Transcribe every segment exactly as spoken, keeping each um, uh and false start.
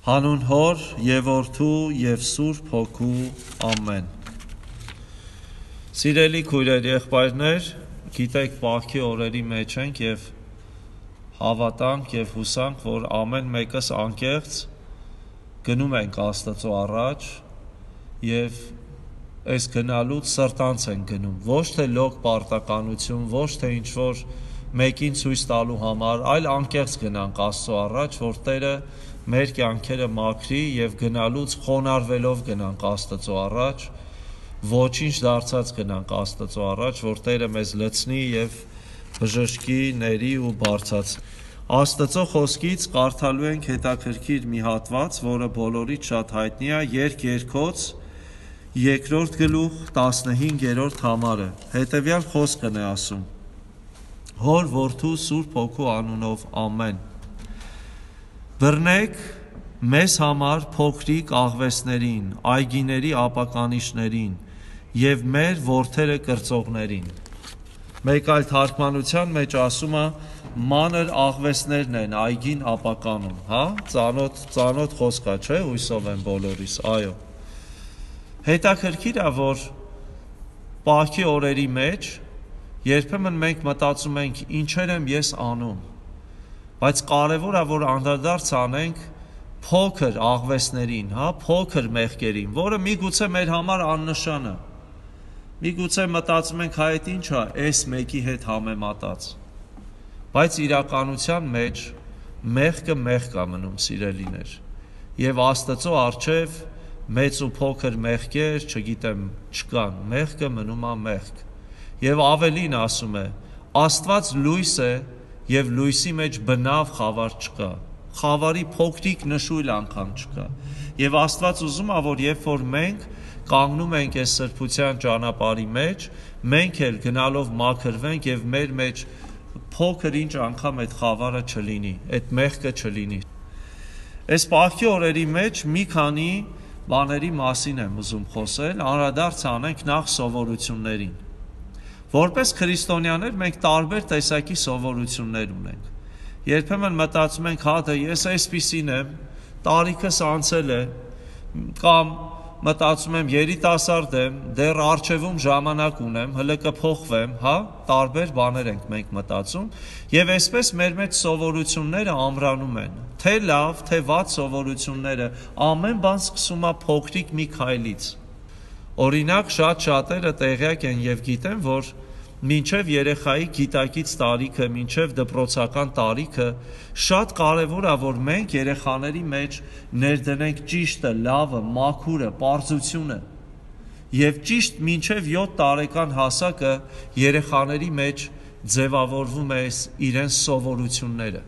Հանուն Հոր և Որդու և Սուրբ Հոգու ամեն։ Սիրելի քույրեր, եղբայրներ, գիտեք Պասխի օրերի մեջ ենք և հավատանք և հուսանք, որ ամեն մեկս անկեղծ գնում ենք Աստծո առաջ և այս գնալուց սրտանց ենք գնում, ոչ թե լոկ պարտականություն, ոչ թե ինչ-որ մեկին ցույց տալու համար, այլ անկեղծ գնանք Աստծո առաջ, որ Տերը մեր կյանքերը մաքրի և գնալուց խոնարհվելով գնանք Աստծո առաջ, ոչինչ դարձած գնանք Աստծո առաջ, որ Տերը մեզ լցնի և բժշկի, ների ու բարձրացնի։ Աստծո խոսքից կարդալու ենք հետաքրքիր մի հատված, որը բոլորից շատ հայտնի է, Երգ Երգոց երկրորդ գլուխ տասնհինգերորդ համարը։ Հետևյալ խոսքն է ասում. Հոր, Որդու, Սուրբ Հոգու անունով ամեն։ Բռնեք մեզ համար փոքրիկ աղվեսներին, այգիների ապականիշներին և մեր որդերը կրծողներին։ Մեկ այլ թարգմանության մեջ ասում է մանր աղվեսներն են այգին ապականում, հա, ծանոթ, ծանոթ խոսք է, չէ, հույսով եմ բոլորիս, այո։ Հետաքրքիր է, որ Պասխի օրերի մեջ երբեմն մենք մտածում ենք ինչեր եմ ես անում, բայց կարևոր է, որ անդրադարձ անենք փոքր աղվեսներին, հա, փոքր մեղքերին, որը միգուցե մեր համար աննշան է։ Միգուցե մտածում ենք, հա, այդ ինչ է, այս մեկի հետ համեմատած։ Բայց իրականության մեջ մեղքը մեղք է մնում, սիրելիներ։ Եվ Աստծո առջև մեծ ու փոքր մեղքեր, չգիտեմ, չկան, մեղքը մնում է մեղք։ Եվ ավելին ասում է, Աստված լույս է և լույսի մեջ բնավ խավար չկա, խավարի փոքրիկ նշույլ անգամ չկա։ Եվ Աստված ուզում է, որ երբ որ մենք կանգնում ենք այս սրբության ճանապարհի մեջ, մենք էլ գնալով մաքրվենք և մեր մեջ փոքր ինչ անգամ այդ խավարը չլինի, այդ մեղքը չլինի։ Այս Պասխի օրերի մեջ մի քանի բաների մասին եմ ուզում խոսել, անդրադարձ անենք նախ սովորություններին։ Որպես քրիստոնյաներ մենք տարբեր տեսակի սովորություններ ունենք։ Երբեմն մտածում ենք, հա, դե ես այսպիսին եմ, տարիքս անցել է, կամ մտածում եմ երիտասարդ եմ, դեռ առջևում ժամանակ ունեմ, հլը կփոխվեմ, հա, տարբեր բաներ ենք մենք մտածում, եւ այսպես մեր մեջ սովորությունները ամրանում են, թե լավ, թե վատ սովորությունները, ամեն բան սկսում է փոքրիկ մի քայլից։ Օրինակ, շատ շատերը տեղյակ են եւ գիտեն, որ մինչև երեխայի գիտակից տարիքը, մինչև դպրոցական տարիքը շատ կարևոր է, որ մենք երեխաների մեջ ներդնենք ճիշտը, լավը, մաքուրը, պարզությունը։ Եվ ճիշտ մինչև յոթ տարեկան հասակը երեխաների մեջ ձևավորվում է իրենց սովորությունները։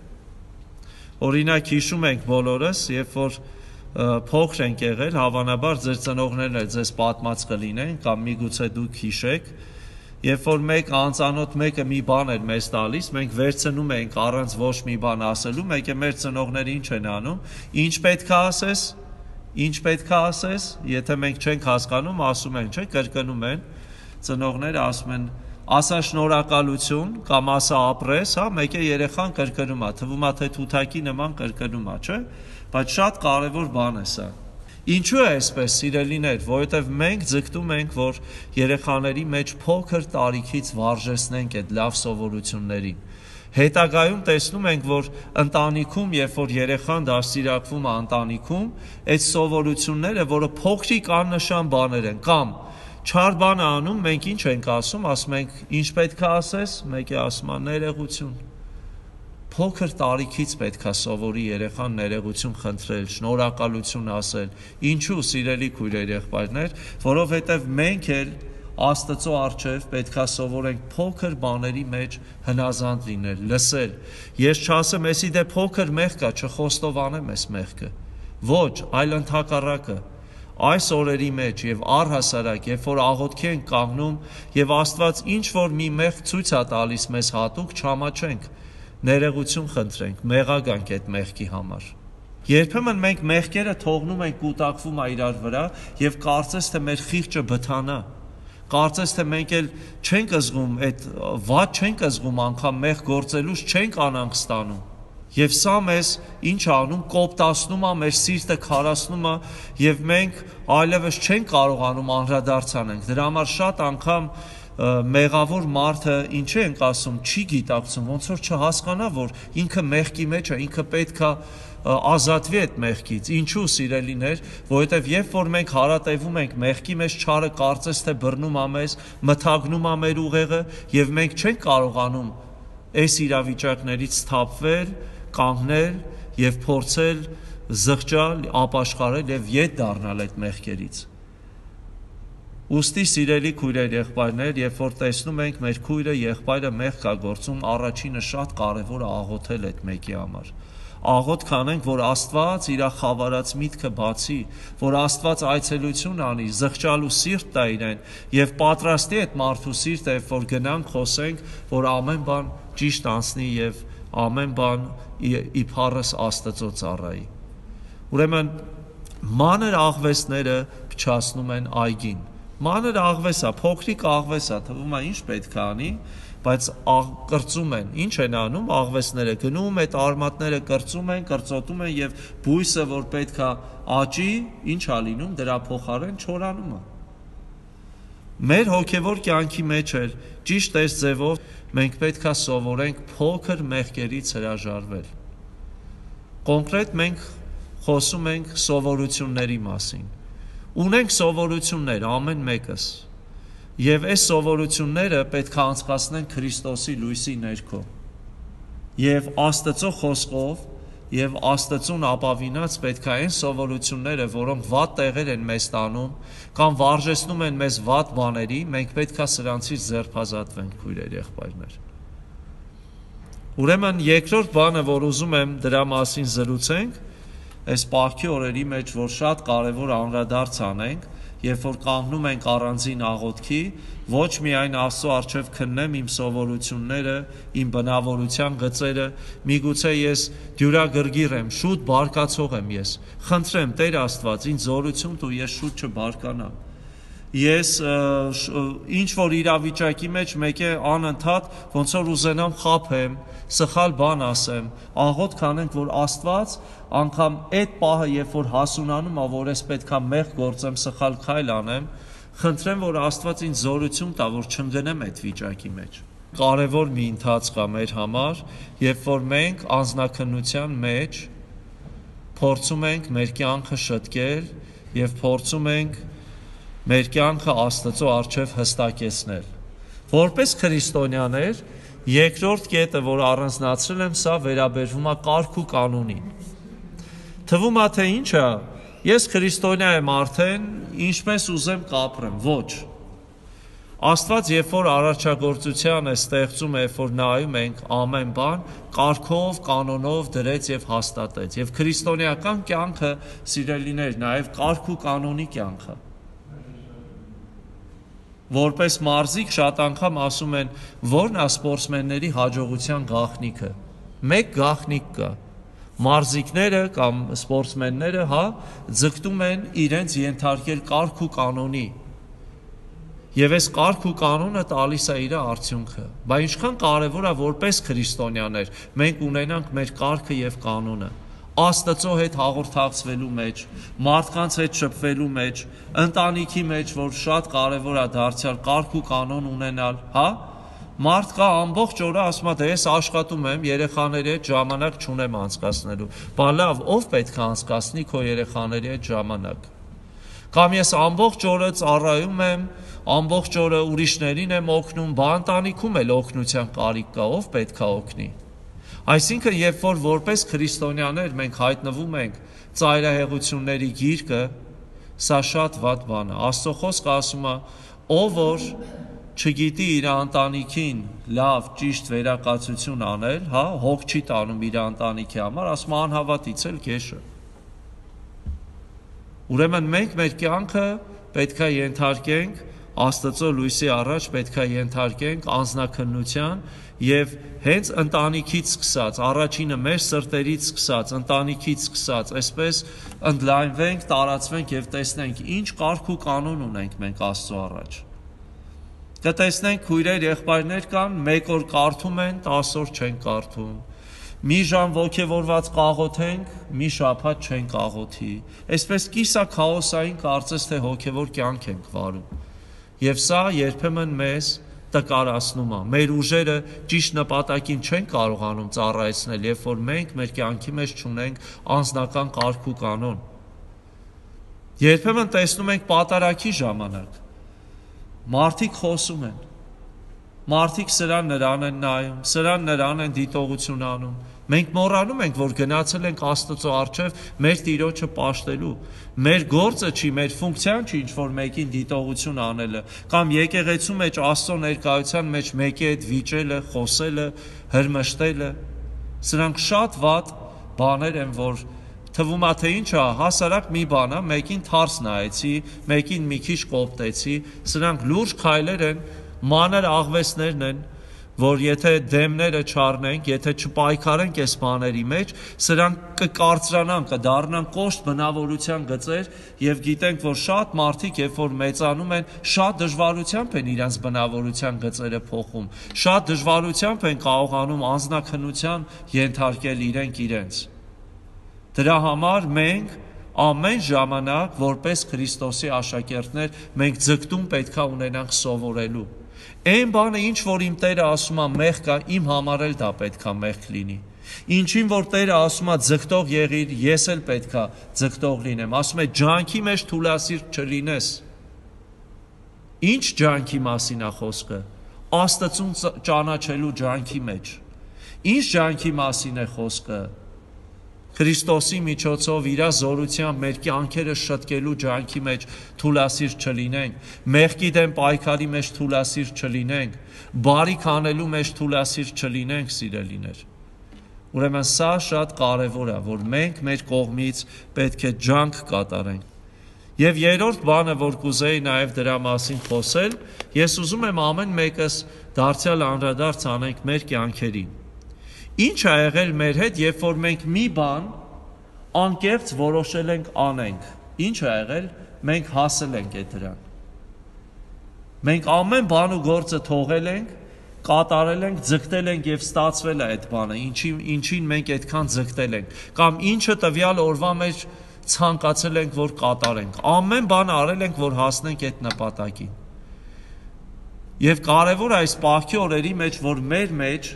Օրինակ հիշում ենք բոլորս, երբ որ փոքր ենք եղել, հավանաբար ձեր ծնողներն էլ ձեզ պատմած կլինեն, կամ միգուցե դուք հիշեք, երբ որ մեկ անծանոթ մեկը մի բան էր մեզ տալիս, մենք վերցնում էինք առանց ոչ մի բան ասելու, մեկ է մեր ծնողները ինչ են անում, ինչ պետք է ասես, ինչ պետք է ասես, եթե մենք չենք հասկանում, ասում են, չէ, կրկնում են, ծնողները ասում են, ասա շնորհակալություն կամ ասա ապրես, հա, մեկ է երեխան կրկնում է, թվում է թե թութակի նման կրկնում է, չէ, բայց շատ կարևոր բան է սա։ Ինչու է այսպես, սիրելիներ, որովհետև մենք ձգտում ենք, որ երեխաների մեջ փոքր տարիքից վարժեցնենք այդ լավ սովորություններին։ Հետագայում տեսնում ենք, որ ընտանիքում, երբ որ երեխան դաստիարակվում է ընտանիքում, այդ սովորությունները, որը փոքրիկ աննշան բաներ են, կամ չար բան է անում, մենք ինչ ենք ասում, ասում ենք, ինչ պետք է ասես, մեկը ասում է ներողություն։ Փոքր տարիքից պետք է սովորի երեխան ներողություն խնդրել, շնորհակալություն ասել։ Ինչու, սիրելի քույրեր, եղբայրներ, որովհետև մենք էլ Աստծո առջև պետք է սովորենք փոքր բաների մեջ հնազանդ լինել, լսել։ Ես չասեմ, էսի դե փոքր մեղք է, չխոստովանեմ այս մեղքը։ Ոչ, այլ ընդհակառակը։ Այս օրերի մեջ եւ առհասարակ, երբ որ աղոթքի ենք կանգնում եւ Աստված ինչ որ մի մեղք ցույց է տալիս մեզ հատուկ, չամաչենք, ներողություն խնդրենք, մեղագանք այդ մեղքի համար։ Երբեմն մենք մեղքերը թողնում ենք կուտակվում է իրար վրա եւ կարծես թե մեր խիղճը բթանա։ Կարծես թե մենք էլ չենք զգում այդ վատ չենք զգում անգամ մեղ գործելուց չենք անանք ստանում։ Եվ սա մեզ ինչ անում, կոպտացնում է, մեր սիրտը քարացնում է, եւ մենք այլևս չենք կարողանում անդրադարձանենք։ Դրա համար շատ անգամ մեղավոր մարդը ինչ ենք ասում, չի գիտակցում, ոնց որ չհասկանա, որ ինքը մեղքի մեջ է, ինքը պետք է ազատվի այդ մեղքից։ Ինչու, սիրելիներ, որովհետև երբ որ մենք հարատևում ենք մեղքի մեջ, չարը կարծես թե բռնում է մեզ, մթագնում է մեր ուղեղը, եւ մենք չենք կարողանում այս իրավիճակներից թափվել, կանգնել եւ փորձել զղջալ, ապաշխարել եւ ետ դառնալ այդ մեղքերից։ Ուստի սիրելի քույրեր, եղբայրներ, երբ որ տեսնում ենք մեր քույրը, եղբայրը մեղք կա գործում, առաջինը շատ կարևոր է աղոթել այդ մեկի համար։ Աղոթք անենք, որ Աստված իր խավարած միտքը բացի, որ Աստված այցելություն անի, զղջալու սիրտ տա իրեն եւ պատրաստի այդ մարդու սիրտը, երբ որ գնանք խոսենք, որ ամեն բան ճիշտ անցնի եւ ամեն բան իբարս Աստծո ծառայի։ Ուրեմն մանր աղվեսները փչացնում են այգին։ Մանր աղվեսա, փոքրիկ աղվեսա, թվում է ինչ պետք է անի, բայց կրծում են։ Ինչ են անում աղվեսները, գնում այդ արմատները կրծում են, կրծոտում են եւ բույսը, որ պետք է աճի, ինչ է լինում, դրա փոխարեն չորանում է։ Մեր հոգևոր կյանքի մեջ էլ ճիշտ այս ձևով մենք պետք է սովորենք փոքր մեղքերից հրաժարվել։ Կոնկրետ մենք խոսում ենք սովորությունների մասին։ Ունենք սովորություններ ամեն մեկս։ Եվ այս սովորությունները պետք է անցկացնենք Քրիստոսի լույսի ներքո։ Եվ Աստծո խոսքով եւ Աստծուն ապավինած պետք է այն սովորությունները, որոնք վատ տեղեր են մեզ տանում կամ վարժեցնում են մեզ վատ բաների, մենք պետք է սրանցից ձերբազատվենք, քույրեր, եղբայրներ։ Ուրեմն երկրորդ բանը, որ ուզում եմ դրա մասին զրուցենք, այս պահքի օրերի մեջ, որ շատ կարևոր անդրադարձ անենք, երբ որ կանգնում ենք առանձին աղոթքի, ոչ միայն Աստծո առջև քննեմ իմ սովորությունները, իմ բնավորության գծերը, միգուցե ես դյուրագրգիռ եմ, շուտ բարկացող եմ ես, խնդրեմ Տեր Աստված, ինձ զորություն տու, ես շուտ չբարկանամ։ Ես ինչ որ իրավիճակի մեջ մեկ է անընդհատ ոնց որ ուզենամ խաբեմ, սխալ բան ասեմ, աղոթք անենք, որ Աստված անգամ այդ պահը, երբ որ հասունանում է, որ ես պետքա մեղք գործեմ, սխալ քայլ անեմ, խնդրեմ, որ Աստված ինձ զորություն տա, որ չընկնեմ այդ վիճակի մեջ։ Կարևոր մի ընթացք է մեր համար, երբ որ մենք անձնաքննության մեջ փորձում ենք մեր կյանքը շտկել եւ փորձում ենք մեր կյանքը Աստծո առջև հստակեցնել։ Որպես քրիստոնյաներ, երկրորդ կետը, որ առանձնացրել եմ, սա վերաբերվում է կարգ ու կանոնին։ Թվում է, թե ինչ է, ես քրիստոնյա եմ արդեն, ինչպես ուզեմ կապրեմ, ոչ։ Աստված, երբ որ արարչագործության է ստեղծում, երբ որ նայում ենք ամեն բան, կարգով, կանոնով դրեց եւ հաստատեց։ Եվ քրիստոնեական կյանքը, սիրելիներ, նաեւ կարգ ու կանոնի կյանք է։ Որպես մարզիկ շատ անգամ ասում են, որն է սպորտսմենների հաջողության գաղտնիքը։ Մեկ գաղտնիք կա։ Մարզիկները կամ սպորտսմենները, հա, ձգտում են իրենց ենթարկել կարգ ու կանոնի։ Եվ այս կարգ ու կանոնը տալիս է իր արդյունքը։ Բայց ինչքան կարևոր է որպես քրիստոնյաներ մենք ունենանք մեր կարգը եւ կանոնը։ Աստծո հետ հաղորդակցվելու մեջ, մարդկանց հետ շփվելու մեջ, ընտանիքի մեջ, որ շատ կարևոր է դարձյալ կարգ ու կանոն ունենալ, հա? Մարդ կա ամբողջ օրը ասում է, դե ես աշխատում եմ, երեխաների հետ ժամանակ չունեմ անցկացնելու։ Բա լավ, ով պետք է անցկացնի քո երեխաների հետ ժամանակ։ Կամ ես ամբողջ օրը ծառայում եմ, ամբողջ օրը ուրիշներին եմ օգնում, բա ընտանիքում էլ օգնության կարիք կա, ով պետք է օգնի։ Այսինքն, երբ որ որպես քրիստոնյաներ մենք հայտնվում ենք ծայրահեղությունների գիրկը, սա շատ վատ բան է։ Աստծո խոսքը ասում է, ով որ չգիտի իր ընտանիքին լավ, ճիշտ վերակացություն անել, հա, հոգ չի տանում իր ընտանիքի համար, ասում է անհավատից էլ գեշը։ Ուրեմն մենք մեր կյանքը պետք է ենթարկենք Աստծո լույսի առաջ, պետք է ենթարկենք անձնաքննության եւ հենց ընտանիքից սկսած, առաջինը մեր սրտերից սկսած, ընտանիքից սկսած, այսպես ընդլայնվենք, տարածվենք եւ տեսնենք ինչ կարգ ու կանոն ունենք մենք Աստծո առաջ։ Կտեսնենք քույրեր, եղբայրներ կան, մեկ օր կարդում են, տասը օր չեն կարդում։ մի ժամ ոգևորված կաղոթենք, մի շաբաթ չենք աղոթի։ Այսպես կիսա քաոսային կարծես թե հոգևոր կյանք ենք վարում։ Եվ սա երբեմն մեզ տկարացնում է։ Մեր ուժերը ճիշտ նպատակին չեն կարողանում ծառայեցնել, երբ որ մենք մեր կյանքի մեջ չունենք անձնական կարգ ու կանոն։ Երբեմն տեսնում ենք պատարագի ժամանակ մարդիկ խոսում են, մարդիկ սրան նրան են նայում, սրան նրան են դիտողություն անում։ Մենք մոռանում ենք, որ գնացել ենք Աստծո առջև մեր Տիրոջը պաշտելու։ Մեր գործը չի, մեր ֆունկցիան չի ինչ-որ մեկին դիտողություն անելը, կամ եկեղեցու մեջ Աստծո ներկայության մեջ մեկի հետ վիճելը, խոսելը, հրմշտելը։ Սրանք շատ վատ բաներ են, որ թվում է թե ինչ է, հասարակ մի բան է, մեկին թարս նայեցի, մեկին մի քիչ կոպտեցի, սրանք լուրջ քայլեր են, մանր աղվեսներն են, որ եթե դեմները չառնենք, եթե չպայքարենք այս բաների մեջ, սրանք կկարծրանան, կդառնան կոշտ բնավորության գծեր եւ գիտենք, որ շատ մարդիկ, երբ որ մեծանում են, շատ դժվարությամբ են իրենց բնավորության գծերը փոխում, շատ դժվարությամբ են կարողանում անձնաքննության ենթարկել իրենք իրենց։ Դրա համար մենք ամեն ժամանակ, որպես Քրիստոսի աշակերտներ, մենք ձգտում պետքա ունենանք սովորելու։ Այն բանը, ինչ որ իմ Տերը ասում է մեղք է, իմ համար էլ դա պետքա մեղք լինի։ Ինչին որ Տերը ասում է ձգտող եղիր, ես էլ պետքա ձգտող լինեմ։ Ասում է ջանքի մեջ թուլասիրտ չլինես։ Ինչ ջանքի մասին է խոսքը։ Աստծուն ճանաչելու ջանքի մեջ։ Ինչ ջանքի մասին է խոսքը։ Քրիստոսի միջոցով իր զորությամբ մեր կյանքերը շտկելու ջանքի մեջ թուլասիրտ չլինենք, մեղքի դեմ պայքարի մեջ թուլասիրտ չլինենք, բարիք անելու մեջ թուլասիրտ չլինենք, սիրելիներ։ Ուրեմն սա շատ կարևոր է, որ մենք մեր կողմից պետք է ջանք կատարենք։ Եվ երրորդ բանը, որ կուզեի նաև դրա մասին խոսել, ես ուզում եմ ամեն մեկս դարձյալ անդրադարձ անենք մեր կյանքերին։ Ինչ է եղել մեր հետ, երբ որ մենք մի բան անկեղծ որոշել ենք անենք։ Ինչ է եղել, մենք հասել ենք այդ դրան։ Մենք ամեն բան ու գործը թողել ենք, կատարել ենք, ձգտել ենք եւ ստացվել է այդ բանը, ինչին ինչին մենք այդքան ձգտել ենք, կամ ինչը տվյալ օրվա մեջ ցանկացել ենք, որ կատարենք։ Ամեն բան արել ենք, որ հասնենք այդ նպատակին։ Եվ կարևոր է այս պահքի օրերի մեջ, որ մեր մեջ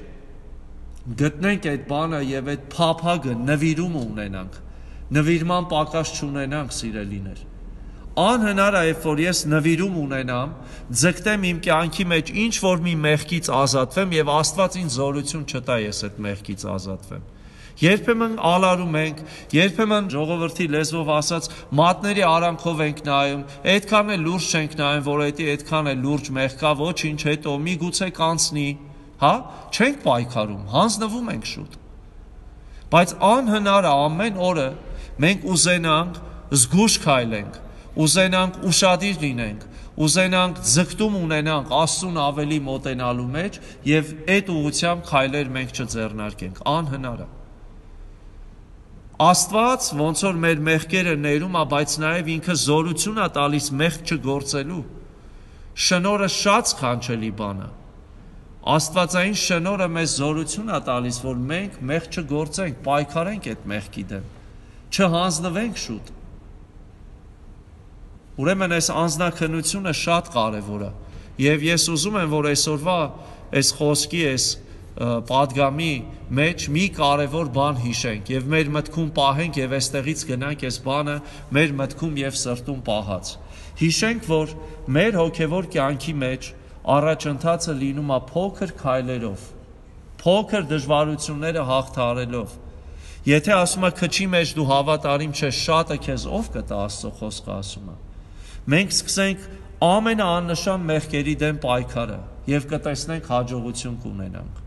գտնենք այդ բանը եւ այդ փափագը նվիրումը ունենանք, նվիրման պակաս չունենանք, սիրելիներ։ Անհնար է, երբ որ ես նվիրում ունենամ, ձգտեմ իմ կյանքի մեջ ինչ որ մի մեղքից ազատվեմ եւ Աստված ինձ զորություն չտա ես այդ մեղքից ազատվեմ։ Երբեմն ալարում ենք, երբեմն ժողովրդի լեզվով ասած մատների արանքով ենք նայում, այդքան էլ լուրջ չենք նայում, որ դա այդքան էլ լուրջ մեղք կա, ոչինչ, հետո միգուցե կանցնի, հա, չենք պայքարում, հանձնվում ենք շուտ։ Բայց անհնար է ամեն օրը մենք ուզենանք զգուշ քայլենք, ուզենանք ուշադիր լինենք, ուզենանք ձգտում ունենանք Աստծուն ավելի մոտենալու մեջ եւ այդ ուղղությամբ քայլեր մենք չձեռնարկենք, անհնար է։ Աստված ոնց որ մեր մեղքերը ներում է, բայց նաև ինքը զորություն է տալիս մեղք չգործելու։ Շնորհը շատ սքանչելի բան է։ Աստվածային շնորհը մեզ զորություն է տալիս, որ մենք մեղք չգործենք, պայքարենք այդ մեղքի դեմ, չհանձնվենք շուտ։ Ուրեմն այս անձնաքննությունը շատ կարևոր է, եւ ես ուզում եմ, որ այսօրվա այս խոսքի, այս պատգամի մեջ մի կարևոր բան հիշենք եւ մեր մտքում պահենք եւ այստեղից գնանք այս բանը մեր մտքում եւ սրտում պահած։ Հիշենք, որ մեր հոգեվոր կյանքի մեջ առաջընթացը լինում է փոքր քայլերով, փոքր դժվարությունները հաղթահարելով։ Եթե ասում է քչի մեջ դու հավատարիմ չես, շատը քեզ ով կտա, Աստծո խոսքը ասում է։ Մենք սկսենք ամենաաննշան մեղքերի դեմ պայքարը եւ կտեսնենք հաջողություն կունենանք։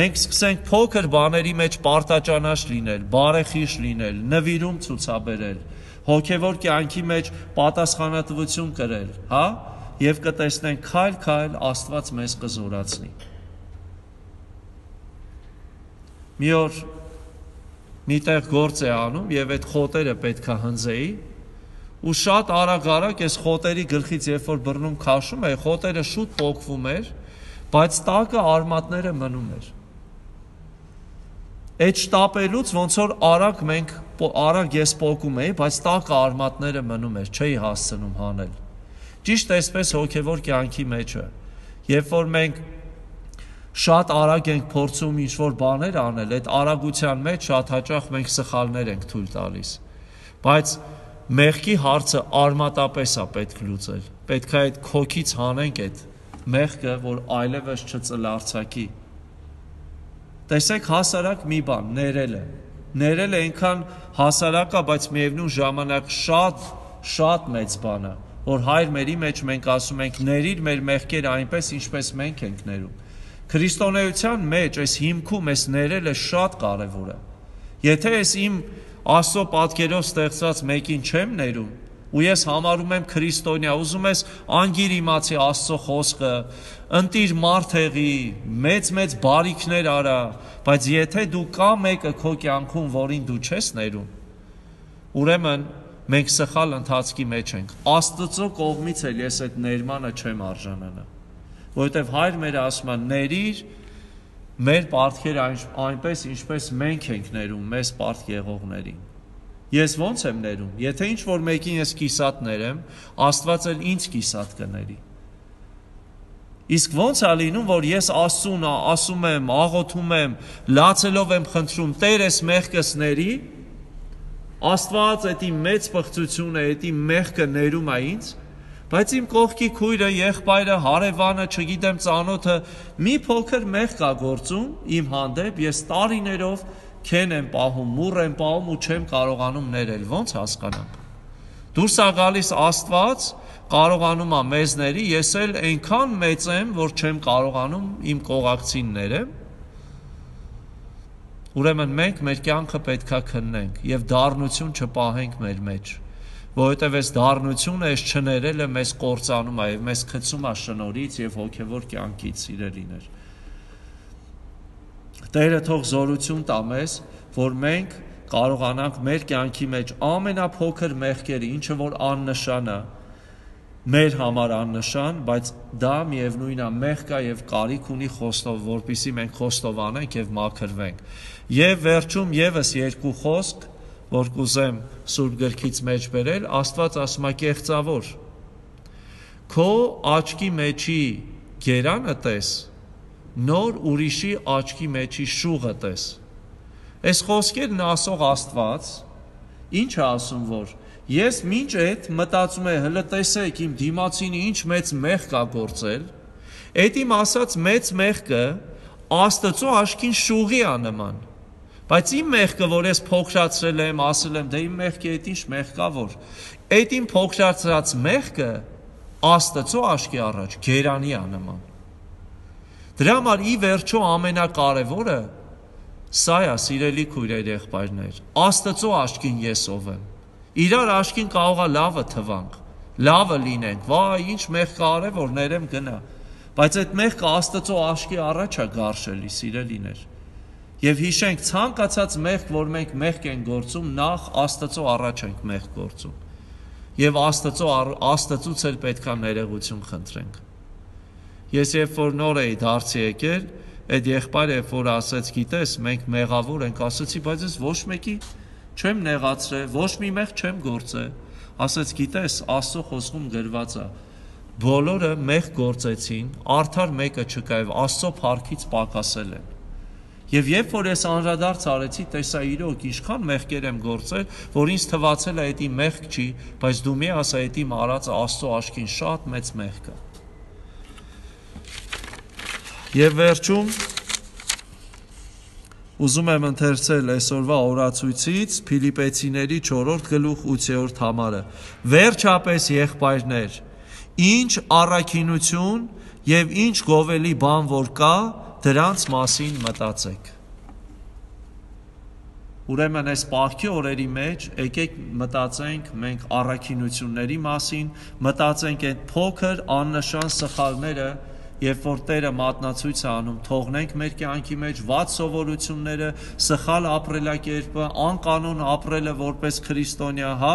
Մենք սկսենք փոքր բաների մեջ պարտաճանաչ լինել, բարեխիղճ լինել, նվիրում ցուցաբերել, հոգևոր կյանքի մեջ պատասխանատվություն կրել, հա, եւ կտեսնենք քայլ-քայլ Աստված մեզ կզորացնի։ Մի օր միտեղ գործ է անում եւ այդ խոտերը պետքա հնձեի, ու շատ արագ-արագ այս խոտերի գլխից երբ որ բռնում քաշում է, խոտերը շուտ պոկվում էր, բայց տակը արմատները մնում էր։ Այդ շտապելուց ոնց որ արագ մենք արագ ես պոկում էի, բայց տակը արմատները մնում էր, չէի հասցնում հանել։ Ճիշտ այսպես հոգևոր կյանքի մեջը, երբ որ մենք շատ արագ ենք փորձում ինչ-որ բաներ անել, այդ արագության մեջ շատ հաճախ մենք սխալներ ենք թույլ տալիս։ Բայց մեղքի հարցը արմատապես է պետք լուծել։ Պետք է այդ քոքից հանենք այդ մեղքը, որ այլևս չծլարձակի։ Տեսեք հասարակ մի բան, ներելը։ Ներելը այնքան հասարակ է, բայց միևնույն ժամանակ շատ, շատ մեծ բան է, որ Հայր մերի մեջ մենք ասում ենք ներիր մեր մեղքերը այնպես, ինչպես մենք ենք ներում։ Քրիստոնեության մեջ այս հիմքում այս ներելը շատ կարևոր է։ Եթե ես իմ Աստծո պատկերով ստեղծված մեկին չեմ ներում, ու ես համարում եմ քրիստոնյա, ուզում ես անգիր իմացի Աստծո խոսքը, ընտիր մարդ եղի, մեծ-մեծ բարիքներ արա, բայց եթե դու կա մեկը քո կյանքում, որին դու չես ներում, ուրեմն մենք սխալ ընթացքի մեջ ենք։ Աստծո կողմից էլ ես այդ ներմանը չեմ արժանանա, որովհետև Հայր մերը ասում է ներիր մեր պարտքերը այնպես, ինչպես մենք ենք ներում մեզ պարտք եղողներին։ Ես ոնց եմ ներում, եթե ինչ-որ մեկին ես կիսատ ներեմ, Աստված էլ ինձ կիսատ կների։ Իսկ ոնց է լինում, որ ես Աստծուն ասում եմ, աղոթում եմ, լացելով եմ խնդրում, Տեր ես մեղքս ների, Աստված էդի մեծ պղծությունը, էդի մեղքը ներում է ինձ, բայց իմ կողքի քույրը, եղբայրը, հարևանը, չգիտեմ ծանոթը, մի փոքր մեղք կա գործում իմ հանդեպ, ես տարիներով քեն եմ պահում, մուռ եմ պահում ու չեմ կարողանում ներել, ոնց հասկանանք։ Դուրս է գալիս Աստված, կարողանում է մեզ ների, ես էլ այնքան մեծ եմ, որ չեմ կարողանում իմ կողակցին ներեմ։ Ուրեմն մենք մեր կյանքը պետքա քննենք եւ դառնություն չպահենք մեր մեջ, որովհետեւ այս դառնությունը, այս չներելը մեզ կործանում է եւ մեզ գցում է շնորհից եւ հոգեվոր կյանքից, սիրելիներ։ Տերը թող զորություն տա մեզ, որ մենք կարողանանք մեր կյանքի մեջ ամենափոքր մեղքերը, ինչը որ աննշան է, մեր համար աննշան, բայց դա միևնույն է մեղք է եւ կարիք ունի խոստով, որպեսզի մենք խոստովանենք եւ մաքրվենք։ Եվ վերջում եւս երկու խոսք, որ կուզեմ Սուրբ գրքից մեջ բերել, Աստված ասում է կեղծավոր։ Քո աչքի մեջի գերանը տես, նոր ուրիշի աչքի մեջի շուղը տես։ Այս խոսքերն ասող Աստված ինչ է ասում, որ ես մինչ այդ մտածում եմ, հələ տեսեք իմ դիմացինը ինչ մեծ մեղք կա գործել, այդ իմ ասած մեծ մեղքը Աստծո աչքին շուղի է նման։ Բայց իմ մեղքը, որ ես փոքրացրել եմ, ասել եմ, դե իմ մեղքը այդ ինչ մեղք կա, որ այդ իմ փոքրացած մեղքը Աստծո աչքի առաջ գերանի է նման։ Դրա համար ի վերջո ամենակարևորը սա է, սիրելի քույրեր, եղբայրներ, Աստծո աչքին ես ով եմ։ Իրար աչքին կարող է լավը թվանք, լավը լինենք, վայ, ինչ մեղք արել, որ ներեմ գնա։ Բայց այդ մեղքը Աստծո աչքի առաջ է գարշելի, սիրելիներ։ Եվ հիշենք ցանկացած մեղք, որ մենք մեղք ենք գործում, նախ Աստծո առաջ ենք մեղք գործում։ Եվ Աստծո Աստծուց էլ պետքա ներողություն խնդրենք։ Ես երբ որ նոր էի դարձի եկել, այդ եղբայրը երբ որ ասեց, գիտես, մենք մեղավոր ենք, ասացի, բայց ես ոչ մեկի չեմ նեղացրել, ոչ մի մեղք չեմ գործել։ Ասեց, գիտես, Աստծո խոսքում գրված է, բոլորը մեղք գործեցին, արդար մեկը չկա եւ Աստծո փառքից պակասել են։ Եվ երբ որ ես անդրադարձ արեցի, տեսա իրոք ինչքան մեղքեր եմ գործել, որ ինձ թվացել է դա մեղք չի, բայց դու մի ասա դա իմ արածը Աստծո աչքին շատ մեծ մեղք է։ Եվ վերջում ուզում եմ ընթերցել այսօրվա օրացույցից Փիլիպեցիների չորրորդ գլուխ ութերորդ համարը։ Վերջապես եղբայրներ, ինչ առաքինություն եւ ինչ գովելի բան որ կա, դրանց մասին մտածեք։ Ուրեմն այս պահքի օրերի մեջ եկեք մտածենք մենք առաքինությունների մասին, մտածենք այդ փոքր աննշան սխալները, երբ որ Տերը մատնացույց է անում, թողնենք մեր կյանքի մեջ վատ սովորությունները, սխալ ապրելակերպը, անկանոն ապրելը որպես քրիստոնյա, հա,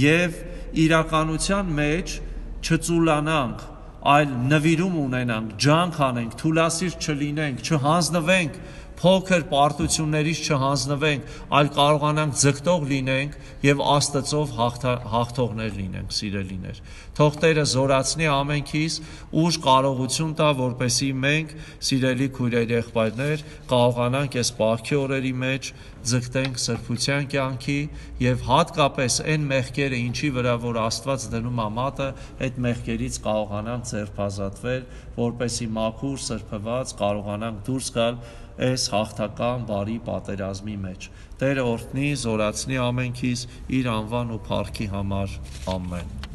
եւ իրականության մեջ չծուլանանք, այլ նվիրում ունենանք, ջանք անենք, թուլասիրտ չլինենք, չհանձնվենք փոքր պարտություններից չհանձնվենք, այլ կարողանանք ձգտող լինենք եւ Աստծով հաղթողներ լինենք, սիրելիներ։ Թող Տերը զորացնի ամենքիս ուժ կարողություն տա, որպեսզի մենք, սիրելի քույրեր, եղբայրներ, կարողանանք այս պահքի օրերի մեջ ձգտենք սրբության կյանքի եւ հատկապես այն մեղքերը, ինչի վրա որ Աստված դնում է մատը, այդ մեղքերից կարողանանք ձերբազատվել, որպեսզի մաքուր սրբված կարողանանք դուրս գալ այս հաղթական բարի պատերազմի մեջ։ Տերը օրհնի, զորացնի ամենքիս իր անվան ու փառքի համար։ Ամեն։